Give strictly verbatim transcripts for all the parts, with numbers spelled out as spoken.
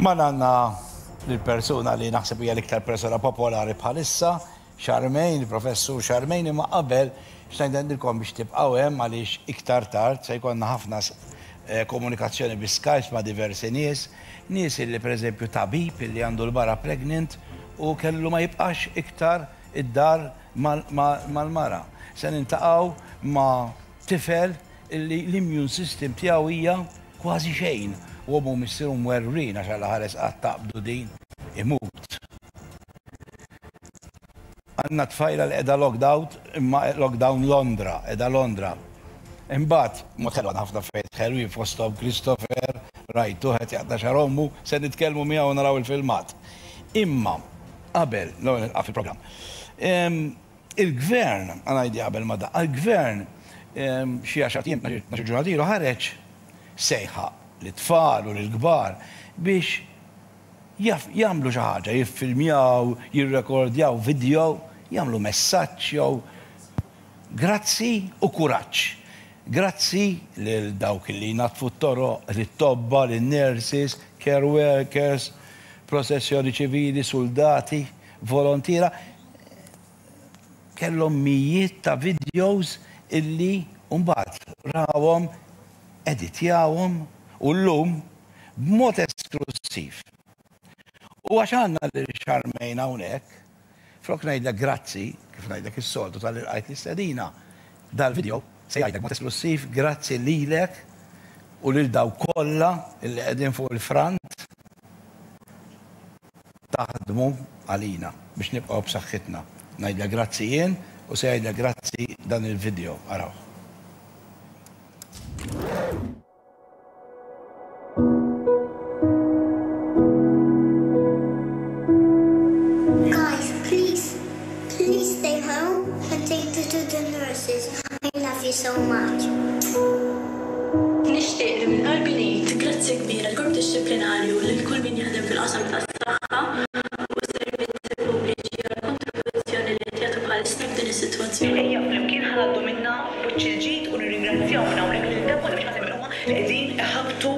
Magħna għandna l-persuna li naħseb hija l-iktar persona popolari bħalissa, Charmaine, il-professur Charmaine, imma qabel xtaqt biex tibqgħu hemm għaliex iktar tard se jkollna ħafna eh, komunikazzjoni bi Skype ma' diversi nies, nies illi pereżempju tabib illi għandu l-mara pregnant u kellu ma jibqax iktar id-dar mal-mara. Se niltaqgħu ma' tifel illi l-immune system tiegħu hija kważi xejn u ommu missieru mwerwrin għax għal ħares qatt taqbdu din imut. Għandna tfajla li qiegħda lockdown, imma lockdown Londra, qiegħda Londra. Imbagħad, mod ħelu ħafna fejt ħelwin fosthom Christopher, rajtu qed jaqta' xagħar ommu, se nitkellmu miegħu naraw il-filmat. Imma qabel, l-ewwel nilqa' fil-programm. Il-gvern, għanajdi qabel ma da, il-gvern xi għaxar ijiem, ġurnata ilu ħareġ sejħa lit-tfal u l-kbar biex jagħmlu xi ħaġa, jiffilmjaw, jirrekordjaw video, jagħmlu messaġġ jew grazzi u kuraġġ. Grazzi lil dawk li jnaddfu t-toroq, lit-tobba, lin-nurses, care workers, protezzjoni ċivili, soldati, volontiera. Kellhom mijiet ta' videos illi mbagħad rawhom, editjawhom u llum b'mod esklusiv. U għax għandna lil Charmaine hawnhekk, flok ngħidlek grazzi, kif ngħidlek is-soltu talli lqajt l-istedina, dal-video se jgħidlek mod esklusiv grazzi lilek u lil dawk kollha illi qegħdin fuq il-front taħdmu għalina biex nibqgħu b'saħħitna. Ngħidlek grazzi jien u se jgħidlek grazzi dan il-video. Araw. Guys, please, please stay home and thank you to the nurses. I love you so much. Nixtieq li minn qalbi ngħid grazzi kbira l-korp dixxiplinarju lil kull min jaħdem fil-qasam tas-saħħa u s-servizzi pubbliċi għall-kontribuzzjoni li qed jagħtu bħalissa f'din is-sitwazzjoni. Ejja flimkien ħa ngħaddu minnha b'wiċċ il-ġid u nirringrazzjaw minn hawnhekk lil dawk kollha biex ħaseb huma li qegħdin iħabbtu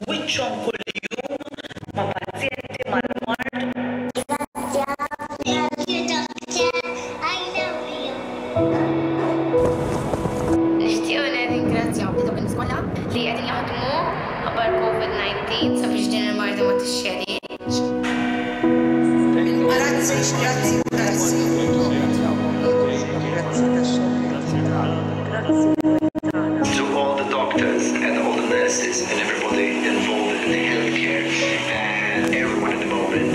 wiċċhom kuljum ma' pazjenti mal-mard. Thank you, doctor. I love you. Nixtiequ nirringrazzjaw li dawk in-nies kollha li qegħdin jaħdmu ħabba l-COVID nineteen sabiex din il-marda ma tixxeridx. Grazzi, grazzi, grazzi. Grazzi tax-xogħol. To all the doctors and all the nurses and everybody involved in healthcare and everyone at the moment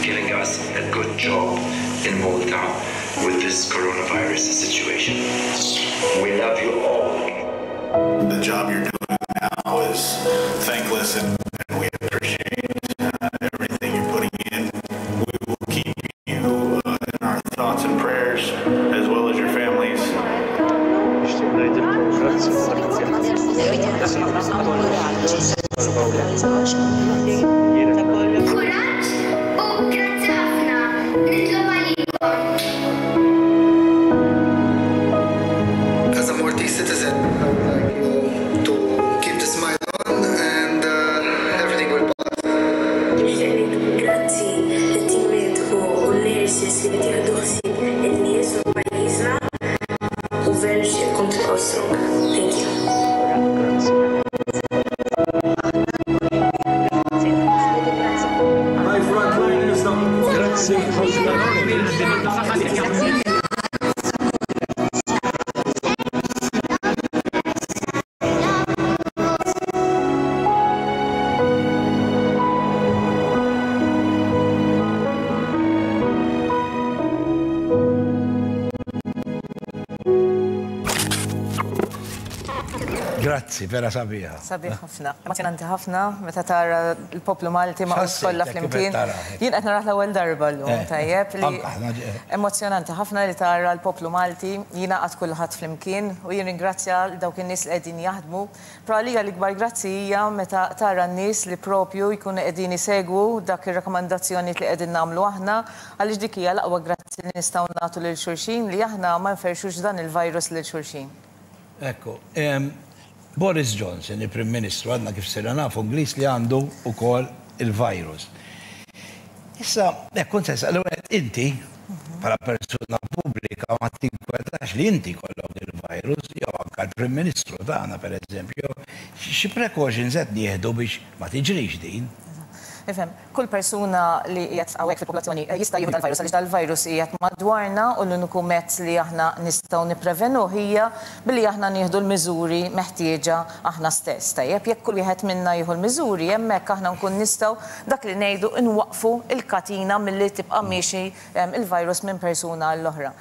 giving us a good job in Malta with this coronavirus situation. We love you all. The job you're doing now is thankless and, and we appreciate uh, everything you're putting in. We will keep you uh, in our thoughts and prayers as well as your families. Nixtieq ngħidilkom grazzi Kuraġġ u grazzi ħafna. Nitlob għalikom. As a Maltese citizen, I would like you to keep the smile on and uh, everything will pass. Nixtieq ngħid grazzi lit-tim mediku u l-nurses li qed jieħdu ħsieb in-nies u pajjiżna u veru nixtieqkom tibqgħu strong. Thank you. Grazzi. My frontliners, grazzi ħafna. Grazzi, vera sabiħa. Sabiħ ħafna. Emozjonanti ħafna meta tara l-poplu Malti ma' X'ħassejtek kollha kif flimkien. qed tara? Jien qed narah l-ewwel darba llum, Eh, tajjeb li anka aħna ġe- emozjonanti ħafna li tara l-poplu Malti jingħaqad kulħadd flimkien u jien ringrazzja l dawk in-nies li qegħdin jaħdmu. Però għalija l-ikbar grazzi hija meta tara n-nies li propju jkunu qegħdin isegwu dak ir-rakkomandazzjonijiet li qegħdin nagħmlu aħna, għaliex dik hija l-aqwa grazzi li nistgħu nagħtu lil xulxin li aħna ma nferxux dan il-virus lil xulxin. Ekku, em, Boris Johnson, il-Prim Ministru, għadna kif sirna nafu Ingliż li għandu ukoll il-virus. Issa, hekk kont se inti bħala persuna pubblika ma tinkwetax li inti jkollok il-virus, jew anke l-Prim Ministru tagħna, pereżempju, xi precautions qed nieħdu biex ma tiġrix din? Ifhem, kull persuna li qiegħed hawnhekk fil-popolazzjoni jista' jieħu dal-virus, għaliex dal-virus qiegħed madwarna u l-uniku mezz li aħna nistgħu nipprevenu hija billi aħna nieħdu l-miżuri meħtieġa aħna stess. Tajjeb, jekk kull wieħed minna jieħu l-miżuri, hemmhekk aħna nkun nistgħu dak li ngħidu nwaqfu il-katina milli tibqa' miexi il-virus minn persuna għall-oħra.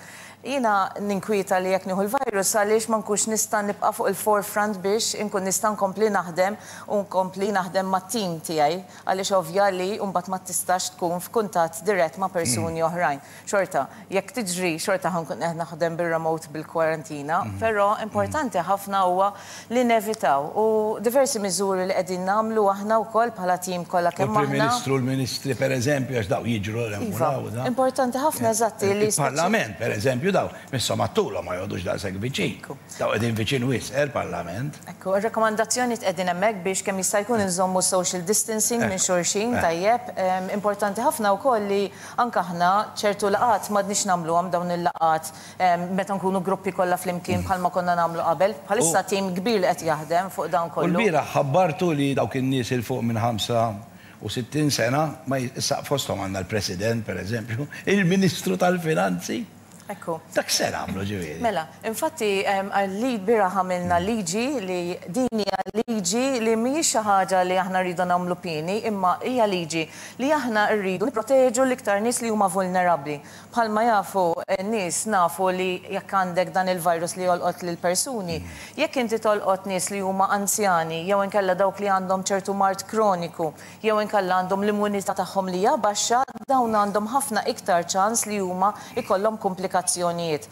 Jiena ninkwieta li jekk nieħu l-virus għaliex ma nkunx nista' nibqa' fuq il-forefront biex inkun nista' nkompli naħdem u nkompli naħdem mat-tim tiegħi, għaliex ovvja li mbagħad ma tistax tkun f'kuntatt dirett ma' persuni oħrajn. Xorta, jekk tiġri, xorta ħa nkun qed naħdem bir-remote bil-kwarantina, però importanti ħafna huwa li nevitaw u diversi miżuri li qegħdin nagħmlu aħna wkoll bħala tim kollha kemm aħna. Il-Prim Ministru, l-Ministri pereżempju, għax daw jiġru l-hemm. Importanti ħafna, eżatti li Il-Parlament pereżempju, daw, misshom għattulhom ma joqogħdux daqshekk viċin. Daw qegħdin viċin wisq, il-Parlament. Ekku, ir-rakkomandazzjoni qegħdin hemmhekk biex kemm jista' jkun inżommu social distancing minn xulxin, tajjeb. Importanti ħafna wkoll li anke aħna ċertu laqat m'għadniex nagħmluhom dawn il-laqat meta nkunu gruppi kollha flimkien bħalma konna nagħmlu qabel. Bħalissa tim kbir li qed jaħdem fuq dawn kollu. U l-bieraħ ħabbartu li dawk in-nies il fuq minn ħamsa u sittin sena, ma issa fosthom għandna l-President pereżempju, il-Ministru tal-Finanzi. Ekku. Dak se nagħmlu ġifieri. Mela, infatti li bieraħ għamilna liġi li din hija liġi li mhijiex xi ħaġa li aħna rridu nagħmlu pieni, imma hija liġi li aħna rridu nipproteġu l-iktar nies li huma vulnerabbli. Bħalma jafu n-nies, nafu li jekk għandek dan il-virus li jolqot lil persuni, jekk inti tolqot nies li huma anzjani, jew inkella dawk li għandhom ċertu mard kroniku, jew inkella għandhom l-immunità tagħhom li hija baxxa, dawn għandhom ħafna iktar ċans li huma ikollhom komplikazzjonijiet.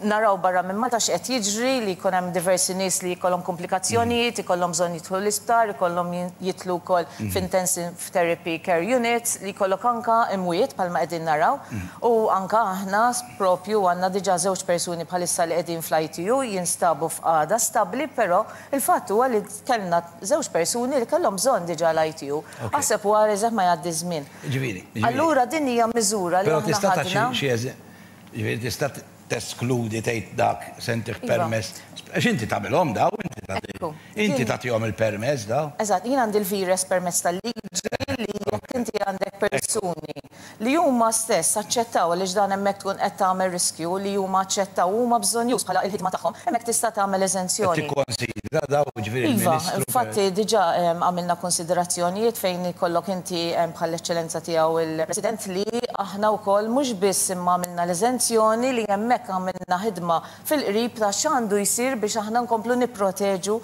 Naraw barra minn Malta x'qed jiġri li jkun hemm diversi nies li jkollhom komplikazzjonijiet, ikollhom bżonn jidħlu l-isptar, ikollhom jidħlu wkoll f'intensive therapy care units, li jkollok anka imwiet bħalma qegħdin naraw. U anka aħna propju għandna diġà żewġ persuni bħalissa li qegħdin fl-I T U jinstabu f'qagħda stabbli, però il-fatt huwa li kellna żewġ persuni li kellhom bżonn diġà l-I T U. Aħseb u ara ma jgħaddi żmien. Ġifieri. Allura din hija miżura li aħna ħadna. Ġifieri tista' teskludi, tgħid dak se ntih permess. Għax inti tagħmilhom daw, inti tagħti. Inti tagħtihom il-permess daw. Eżatt, jien għandi l-virus permess tal-liġi li jekk inti għandek persuni li huma stess aċċettaw, għaliex dan hemmhekk tkun qed tagħmel riskju li huma aċċettaw, huma bżonn bħala il-ħidma tagħhom, hemmhekk tista' tagħmel eżenzjoni. Tikkonsidra daw, ġifieri Iva, il-Ministru. Infatti diġà għamilna konsiderazzjonijiet fejn ikollok inti bħall-eċċellenza tiegħu il-President li aħna wkoll mhux biss imma għamilna l-eżenzjoni, li hemmhekk għamilna ħidma fil-qrib ta' x'għandu jsir biex aħna nkomplu nipproteġu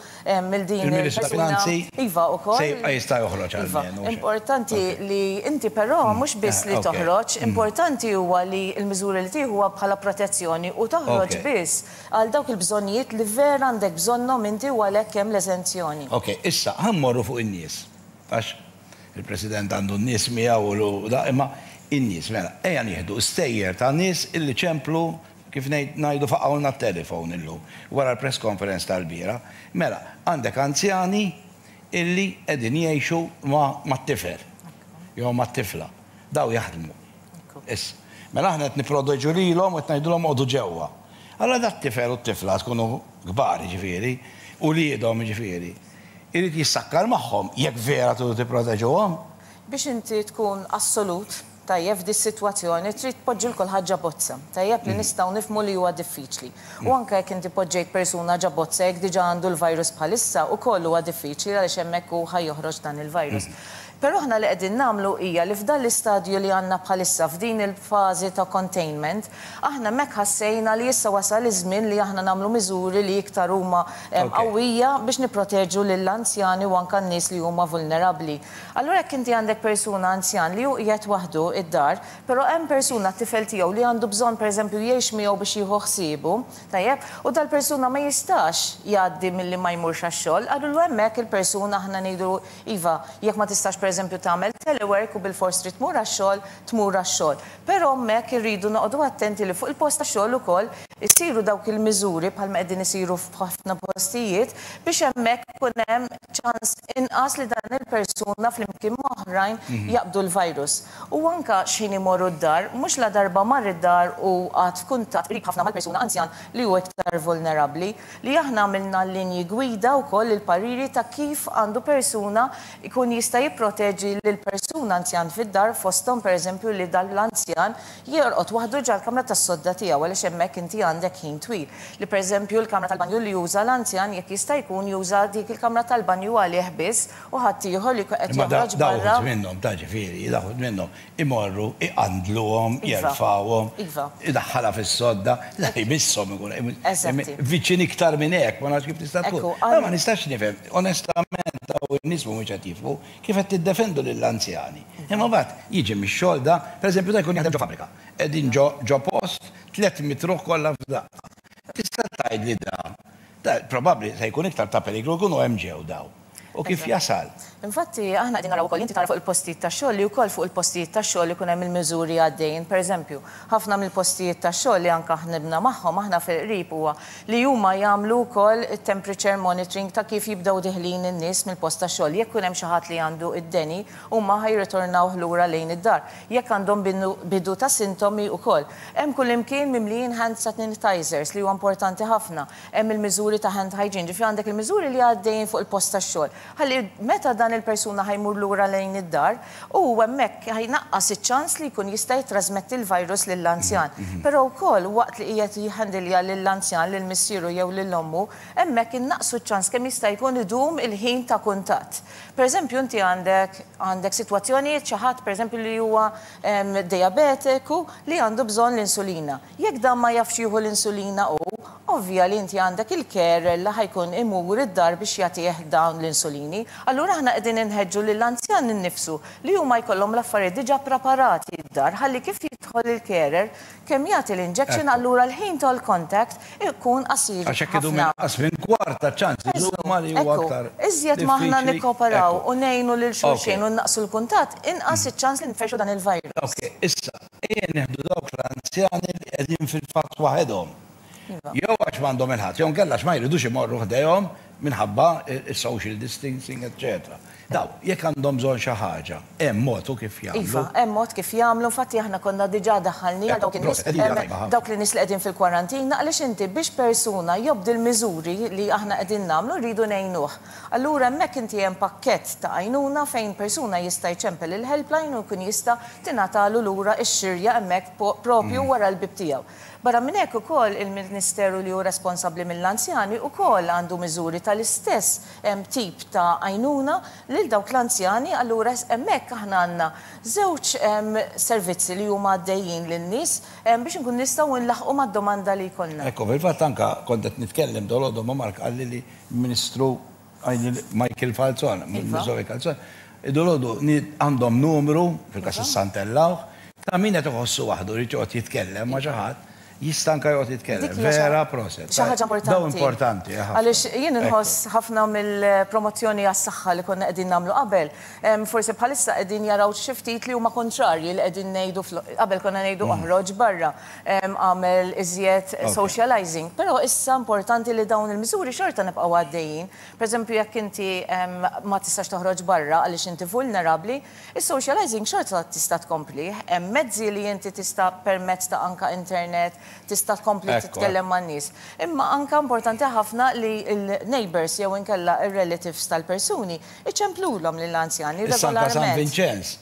mill din Il-Ministru tal-Finanzi Iva, ukoll. se jibqa' jista' joħroġ Iva, għalmenu, xejn. Importanti li inti però mhux biss li Eh, ok. toħroġ, importanti huwa li l-miżuri li tieħu huwa bħala protezzjoni u toħroġ Ok. biss għal dawk il-bżonnijiet li vera għandek bżonnhom inti u għalhekk hemm l-eżenzjoni. Ok, issa, ħa mmorru fuq in-nies. Għax il-President għandu n-nies miegħu u da, imma in-nies, mela, ejja nieħdu stejjer ta' nies illi ċemplu, kif ngħid ngħidu faqgħulna t-telefon illum wara l-press conference tal-bieraħ. Mela, għandek anzjani illi qegħdin jgħixu ma' mat-tifel jew mat-tifla. Daw jaħdmu. Issa, mela aħna qed nipproteġu lilhom u qed ngħidulhom għodu ġewwa. Allora dat tifel u t-tifla tkunu kbar ġifieri, u liedhom ġifieri. Irid jissakkar magħhom jekk vera tridu tipproteġuhom. Biex inti tkun assolut tajjeb f'di situazzjoni trid tpoġġi lil kulħadd ġo bozza. Tajjeb, li nistgħu nifhmu li huwa diffiċli. U anke jekk inti poġġejt persuna ġo bozza, jekk diġà għandu l-virus bħalissa, ukoll huwa diffiċli għaliex hemmhekk hu ħa joħroġ dan il-virus. Però aħna li qegħdin nagħmlu hija li f'dan l-istadju li għandna bħalissa, f'din il-fażi ta' containment, aħna hemmhekk ħassejna li issa wasal iż-żmien li aħna nagħmlu miżuri li iktar huma em, qawwija biex nipproteġu lill-anzjani u anke n-nies li huma vulnerabbli. Allura jekk inti għandek persuna anzjan li hu qiegħed waħdu id-dar, però hemm persuna, t-tifel tiegħu, li għandu bżonn pereżempju jgħix miegħu biex jieħu ħsiebu, tajjeb, u dal-persuna ma jistax jgħaddi milli ma jmurx għax-xogħol, allura hemmhekk il-persuna aħna ngħidu iva, jekk ma tistax pereżempju tagħmel telework u bil-fors trid tmur għax-xogħol, tmur għax-xogħol. Però hemmhekk irridu noqogħdu attenti li fuq il-post tax-xogħol ukoll Isiru dawk il-miżuri bħalma qegħdin isiru f'ħafna postijiet biex hemmhekk ikun hemm ċans inqas li dan il-persuna flimkien ma' oħrajn jaqbdu l-virus. U anka x'ħin imorru d-dar, mhux la darba mar id-dar u għad f'kuntatt qrib ħafna mal-persuna anzjan li hu iktar vulnerabbli, li aħna għamilna linji gwida wkoll il-pariri ta' kif għandu persuna jkun jista' jipproteġi lil persuna anzjan fid-dar, fosthom pereżempju li dan l-anzjan jorqod waħdu ġol-kamra tas-sodda tiegħu għaliex hemmhekk inti għandek ħin twil. Li pereżempju l-kamra tal-banju li juża l-anzjan jekk jista' jkun juża dik il-kamra tal-banju għalih biss u ħadd ieħor li qed joħroġ barra. Dawk minnhom ta' ġifieri, dawk minnhom imorru iqandluhom, jerfgħuhom, idaħħalha fis-sodda, la jmisshom ikun viċin iktar minn hekk, ma nafx kif tista' tkun. Ma nistax nifhem, onestament daw in-nies mhumiex qed jifhmu kif qed tiddefendu lill-anzjani. Imma mbagħad jiġi mix-xogħol da, pereżempju da jkun jaħdem ġo fabbrika, qegħdin ġo post tliet mitruħ kollha f'daqqa. Tista' tgħid li da, da probabbli se jkun iktar ta' periklu jkunu hemm ġew daw. U kif jasal? Infatti, aħna qegħdin naraw ukoll, inti tara fuq il-postijiet tax-xogħol li wkoll fuq il-postijiet tax-xogħol ikun hemm il-miżuri għaddejjin. Pereżempju, ħafna mill-postijiet tax-xogħol li anke ħnibna magħhom aħna fil-qrib huwa li huma jagħmlu wkoll temperature monitoring ta' kif jibdew diħlin in-nies mill-post tax-xogħol. Jekk ikun hemm xi ħadd li għandu id-deni, huma ħajritornaw lura lejn id-dar. Jekk għandhom bidu ta' sintomi wkoll. Hemm kullimkien mimlijin hand sanitizers li huwa importanti ħafna. Hemm il-miżuri ta' hand hygiene, ġifieri għandek il-miżuri li għaddejjin fuq il-post tax-xogħol. Ħalli meta dan il-persuna ħajmur lura lejn id-dar u hemmhekk ħajnaqqas iċ-ċans li jkun jista' jitrasmetti l-virus lill-anzjan. Però wkoll waqt li qiegħed jħandilja lill-anzjan, lil missieru jew lil ommu, hemmhekk innaqsu ċ-ċans kemm jista' jkun idum il-ħin ta' kuntatt. Pereżempju inti għandek għandek sitwazzjonijiet xi ħadd pereżempju li huwa diabetiku li għandu bżonn l-insulina. Jekk dan ma jafx jieħu l-insulina hu, ovvja li inti għandek il-carer li ħajkun imur id-dar biex jagħtih dawn l-insulini. Allura aħna qegħdin inħeġġu lill-anzjan innifsu li huma jkollhom l-affarijiet diġà preparati d-dar ħalli kif jidħol il-carer kemm jagħti l-injection allura l-ħin tal-contact ikun qasir. Għax hekk idum inqas minn kwart ta' ċans idum li huwa aktar. Iżjed ma aħna nikkooperaw u ngħinu lil xulxin u naqsu l-kuntatt, inqas iċ-ċans li nferxu dan il-virus. Ok, issa ejja nieħdu dawk l-anzjani li qegħdin fil-fatt waħedhom. Jew għax m'għandhom il-ħadd, jew nkella għax ma jridux imorru ħdejhom minħabba il-social distancing, eċċetera. Daw, jekk għandhom bżonn xi ħaġa, hemm mod kif jagħmlu. Iva, hemm mod kif jagħmlu, infatti aħna konna diġà daħħalni dawk in-nies dawk li nies li qegħdin fil-kwarantina għaliex inti biex persuna jobdi l-miżuri li aħna qegħdin nagħmlu rridu ngħinuh. Allura hemmhekk inti hemm pakkett ta' għajnuna fejn persuna jista' jċempel il-helpline u jkun jista' tingħatalu lura x-xirja hemmhekk propju wara l-bib tiegħu. Barra minn hekk ukoll il-Ministeru li hu responsabbli mill-anzjani ukoll għandu miżuri tal-istess tip ta' għajnuna lil dawk l-anzjani, allura hemmhekk aħna għandna żewġ servizzi li huma għaddejjin lin-nies biex inkun nistgħu nlaħqu mad-domanda li jkollna. Ekku, fil-fatt anke kont qed nitkellem dolodu ma' Mark qalli li Ministru Michael Falzon, Ministru Falzon, dolodu għandhom numru fil-każ issantellawh ta' min qed iħossu waħdu li joqgħod jitkellem ma' xi ħadd. Jista' anke joqgħod jitkellem. Vera proset. Xi ħaġa importanti. Daw importanti. Għaliex jien inħoss ħafna mill-promozzjoni għas-saħħa li konna qegħdin nagħmlu qabel. Forsi bħalissa qegħdin jaraw xi ftit li huma kontrarji li qegħdin ngħidu qabel konna ngħidu oħroġ barra, għamel iżjed socializing. Però issa importanti li dawn il-miżuri xorta nibqgħu għaddejjin. Pereżempju jekk inti ma tistax toħroġ barra għaliex inti vulnerabbli, is-socializing xorta tista' tkompli. Hemm mezzi li inti tista' permezz ta' anka internet tista' tkompli titkellem man-nies. Imma anka importanti ħafna li l-neighbors jew inkella ir-relatives tal-persuni iċemplulhom lill-anzjani regolarment. San Vincenz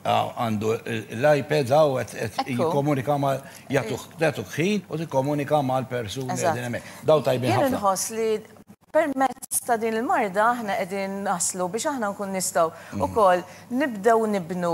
għandu l-iPad hawn qed jikkomunika ma' jagħtuk ħin u tikkomunika mal-persuni qegħdin hemmhekk. Daw tajbin ħafna. Jien inħoss li permezz ta' din il-marda aħna qegħdin naslu biex aħna nkun nistgħu ukoll nibdew nibnu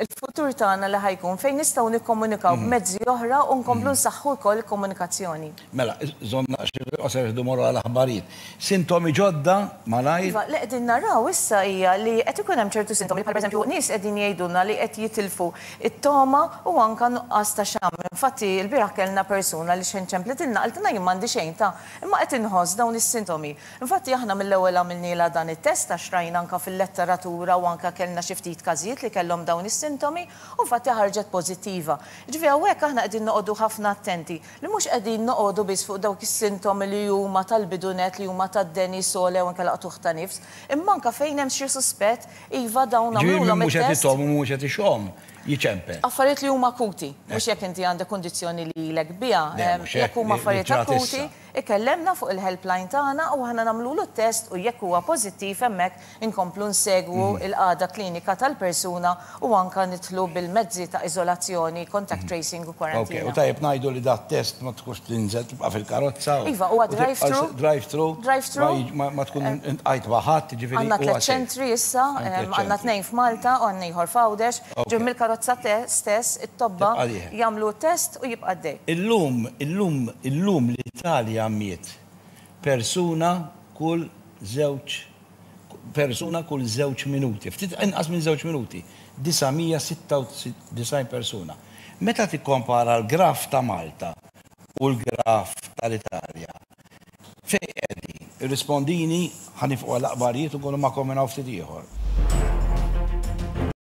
il-futur tagħna li ħajkun fejn nistgħu nikkomunikaw b'mezzi oħra u nkomplu nsaħħu wkoll il-komunikazzjoni. Mela, żonna xi qosor iħdu morru għal aħbarijiet. Sintomi ġodda malajr. Iva, li qegħdin naraw issa hija li qed ikun hemm ċertu sintomi bħal pereżempju nies qegħdin jgħidulna li qed jitilfu it-toma u anke nuqqas ta' xamm. Infatti l-bieraħ kellna persuna li xejn ċemplitilna qaltilna jien m'għandi xejn ta' imma qed inħoss dawn is-sintomi. Infatti aħna Aħna mill-ewwel għamilnielha dan it-test għax rajna anka fil-letteratura u anka kellna xi ftit każijiet li kellhom dawn is-sintomi u infatti ħarġet pożittiva. Ġifieri hawnhekk aħna qegħdin noqogħdu ħafna attenti li mhux qegħdin noqogħdu biss fuq dawk is-sintomi li huma tal-bidunet, li huma tad-deni, sogħla u anke l-qtugħ ta' nifs, imma anka fejn hemm xi suspett, iva, dawn Ġifieri nagħmluhom mhux qed it-test. jitgħom u mhux qed ixomm jiċempel. Affarijiet li huma akuti, mhux jekk inti għandek kundizzjoni li ilek biha, Le, em, mhux jekk hekk, huma li- li affarijiet ġrat akuti, issa. Ikellemna fuq il-helpline tagħna u aħna nagħmlulu t-test u jekk huwa pożittiv hemmhekk inkomplu nsegwu Mhm. il-qagħda klinika tal-persuna u anka nidħlu bil-mezzi ta' iżolazzjoni, contact tracing u Ok, kwarantina. u tajjeb ngħidu li dat test ma tkunx tinżel, tibqa' fil-karozza. u- Iva, huwa u tibqa' drive-through. Drive-through. Drive-through. Ma, ma tkun iltqajt ma' ħadd, ġifieri. Għandna huwa tliet safe. ċentri issa, Għandna em, tliet għandna ċentri. tnejn f'Malta u għandna ieħor f'Għawdex. Ok. Ġew mill-karozza te- stess, it-tobba Tibqa' dieħel. jagħmlu test u jibqa' dej. Illum, illum, illum l-Italja miet persuna kull żewġ persuna kull żewġ minuti, ftit inqas minn żewġ minuti, disa' mija u sitta u disgħin persuna. Meta tikkompara l-graf ta' Malta u l-graf tal-Italja, fejn qegħdin? Irrispondini, ħa nieqfu għall-aħbarijiet u nkunu magħkom minn hawn ftit ieħor.